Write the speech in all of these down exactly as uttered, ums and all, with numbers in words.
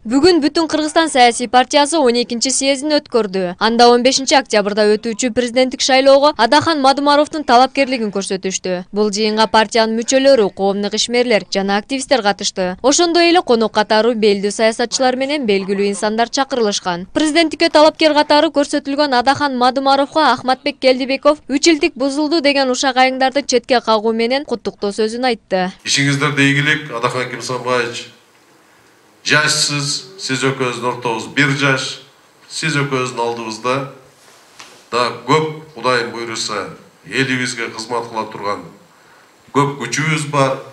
Бүгүн Бүтүн Кыргызстан саясий партиясы он экинчи съездин өткөрдү. Анда он бешинчи октябрда өтүүчү президенттик шайлоого Адахан Мадумаровдун талапкерлигин көрсөтүштү. Бул жыйынга партиянын мүчөлөрү, коомдук ишмерлер жана активисттер катышты. Ошондой эле конок катары белгилүү саясатчылар менен белгилүү инсандар чакырылышкан. Президенттикке талапкер катары көрсөтүлгөн Адахан Мадумаровго Ахматбек Келдибеков үч илдик бузулду деген ушак айыңдарды четке кагуу менен куттуктоо сөзүн айтты. Ишиңиздерде ийгилик, Адахан Кимсанбаевич. Жашсыз, сиз экөөбүздүн ортобуз бир жаш, сиз экөөбүздүн алдыбызда да көп Кудайым буйруса элибизге кызмат кыла турган көп күчүбүз бар.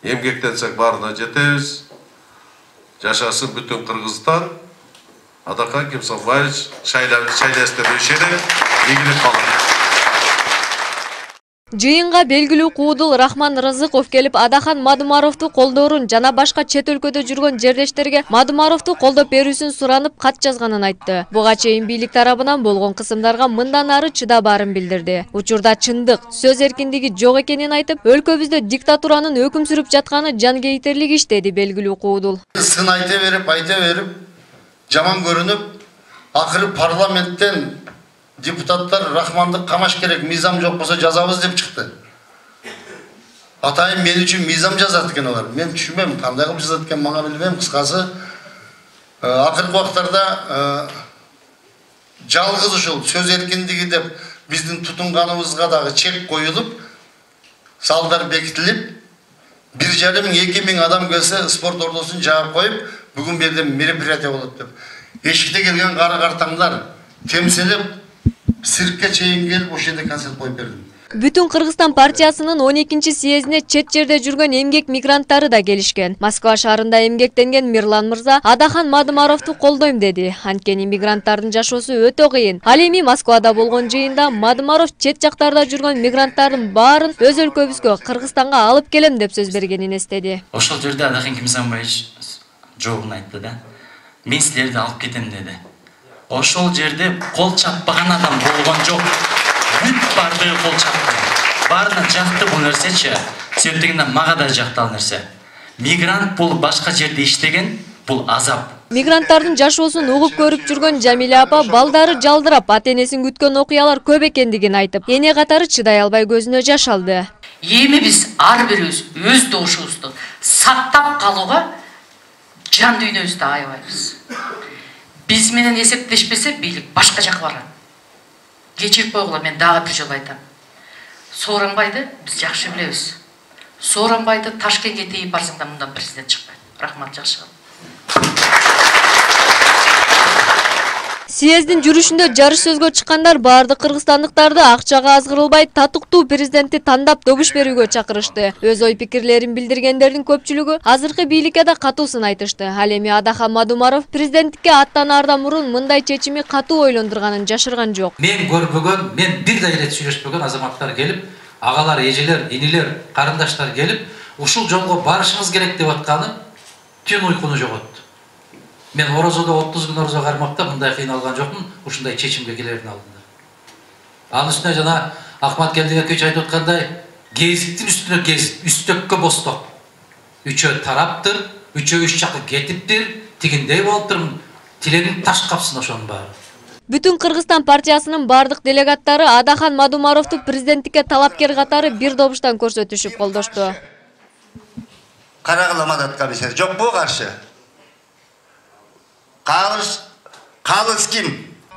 Эмгектенсек баарына жетебиз. Жашасын бүтүн Кыргызстан. Адахан Кимсанбаевич шайлаштырып ишенем. Ийгилик калат. Жыйынга белгилүү куудул Рахман Рызыков келип Адахан Мадумаровду колдоорун жана башка чет өлкөдө жүргөн жердештерге Мадумаровду колдоп берүүсүн суранып кат жазганын айтты. Буга чейин бийлик тарабынан болгон кысымдарга мындан ары чыдабаарын билдирди. Учурда чындык, сөз эркиндиги жок экенин айтып, өлкөбүздө диктатуранын өкүм сүрүп жатканы жангейтерлик иш деди белгилүү куудул. Сын айта берип, айта берип, жаман көрүнүп, акыры парламенттен депутаттар Рахмандык камаш керек, мыйзам жок болсо жазабыз деп чыкты. Атайын мен үчүн мыйзам жазат экен алар. Мен түшүнбөйм, кандай кылып жазат экен, мага билбейм. Кыскасы, акыркы убактарда жалгыз ушул сөз эркиндиги деп биздин тутунганыбызга дагы чек коюлуп, салдар бекитилип, бир жарым эки миң адам келсе спорт ордосун жаап коюп, бүгүн бу жерде мероприятие болот деп. Эшикте келген кара картаңдар темселеп Сиркке чейин келип ошол жерде концерт коюп бердим. Бүтүн Кыргызстан партиясынын он экинчи съездине чет жерде жүргөн эмгек мигранттары да келишкен. Москва шаарында эмгектенген Мирлан мырза Адахан Мадумаровду колдойм деди. Анткени мигранттардын жашоосу өтө кыйын. Ал эми Москвада болгон жыйында Мадумаров чет жактарда жүргөн мигранттардын баарын өз өлкөбүзгө, Кыргызстанга алып келем деп сөз бергенин эстеди. Ошол жерде Адахан Кимсанбаевич жообун айтты да. Мен силерди алып кетем деди. Ошол жерде кол чаппаган адам болгон жок. Бүт бардыгы кол чапты. Баарына жакты бул нерсечи. Себептегенде мага да жакты ал нерсе. Мигрант бул башка жерде иштеген, бул азап. Мигранттардын жашоосун угуп көрүп жүргөн Жамиля апа балдары жалдырап, ата-энесин күткөн окуялар көп экендигин айтып, эне катары чыдай албай көзүнө жаш алды. Эми биз ар бирибиз өз добушубузду сактап калууга жан дүйнөбүздү аябайбыз. Биз менен эсептешпесе бийлик башка жака барат. Кечирип койгула, мен дагы бир жолу айтам. Сооронбайды биз жакшы билебиз. Сооронбайды Ташкентке тийип барсаң да мындан президент чыкпайт. Рахмат, жакшы кал. Съездин жүрүшүндө жарыш сөзгө чыккандар баардык кыргызстандыктарды акчага азгырылбай татыктуу президентти тандап добуш берүүгө чакырышты. Өз ой пикирлерин билдиргендердин көпчүлүгү азыркы бийликке да катуусын айтышты. Ал эми Адахан Мадумаров президенттикке аттанаардан мурун мындай чечими катуу ойлондурганын жашырган жок. Мен көрбөгөн, мен бир да ирет сүйлөшпөгөн азаматтар келип, агалар, эжелер, инилер, карындаштар келип, ушул жолго барышыңыз керек деп атканы түн уйкуну жоготту. Мен орозодо отуз күн орозо кармакта мындай кыйналган жокмун, ушундай чечимге келердин алдында. Анын үстүнө жана Ахмат Келдибекович айтып аткандай, гезиттин үстүнө гезит, үстөккө босток. Үчөө тараптыр, үчөө үч жакка кетиптир, тигиндей болуптур, тилегин таш капсын ошонун баары. Бүтүн Кыргызстан партиясынын бардык делегаттары Адахан Мадумаровду президенттикке талапкер катары бир добуштан көрсөтүшүп колдошту. Карагыла Мадат комиссар жокпу каршы? Калыш, калыс ким?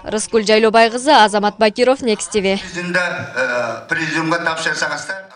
Рыскүл Жайлобай кызы, Азамат Бакиров, Next ти ви. Президиумга тапшырсаңыздар.